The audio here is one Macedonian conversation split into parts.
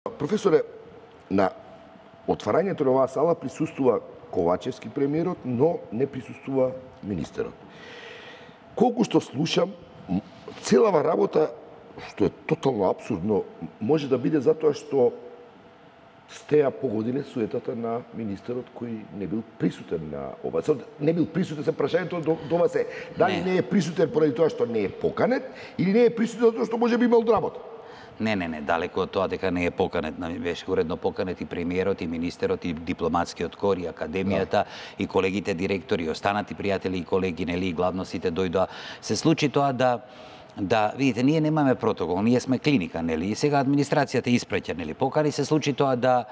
Професоре, на отварањето на оваа сала присуствува Ковачевски премиерот, но не присуствува министерот. Колку што слушам, целава работа, што е тотално абсурдно, може да биде затоа што сте ја погодиле суетата на министерот кој не бил присутен на ова. Не бил присутен, се прашањето до вас е дали не е присутен поради тоа што не е поканет или не е присутен затоа што може би имал работа. Не, далеко од тоа дека не е поканет, беше уредно поканет и премиерот, и министерот, и дипломатскиот кор, и академијата, и колегите директори, и останати пријатели и колеги, нели, и главно сите дојдоа. Се случи тоа да видите, ние немаме протокол, ние сме клиника, нели, и сега администрацијата испраќа, нели, покани, се случи тоа да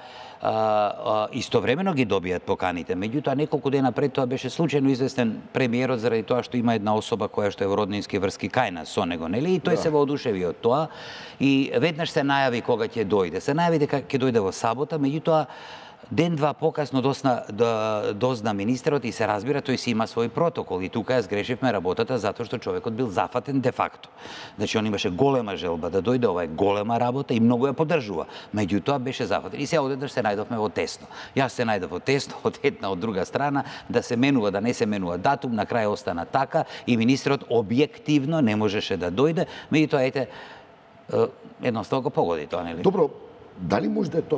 истовремено ги добијат поканите. Меѓутоа, неколку дена пред тоа беше случајно известен премиерот заради тоа што има една особа која што е во роднински врски кај нас со него, нели, и тој се воодушеви од тоа и веднаш се најави кога ќе дојде. Се најави дека ќе дојде во сабота, меѓутоа ден-два покасно дозна министерот и се разбира, тој си има свој протокол и тука ја сгрешивме работата затоа што човекот бил зафатен де факто. Значи, он имаше голема желба да дојде, ова е голема работа и многу ја поддржува. Меѓутоа беше зафатен. И сега одеднаш се најдовме во тесно. Јас се најдов во тесно, од една, од друга страна, да се менува, да не се менува датум, на крај остана така и министерот објективно не можеше да дојде. Меѓутоа, едноставно го погоди тоа, нели? Добро, дали може да е тоа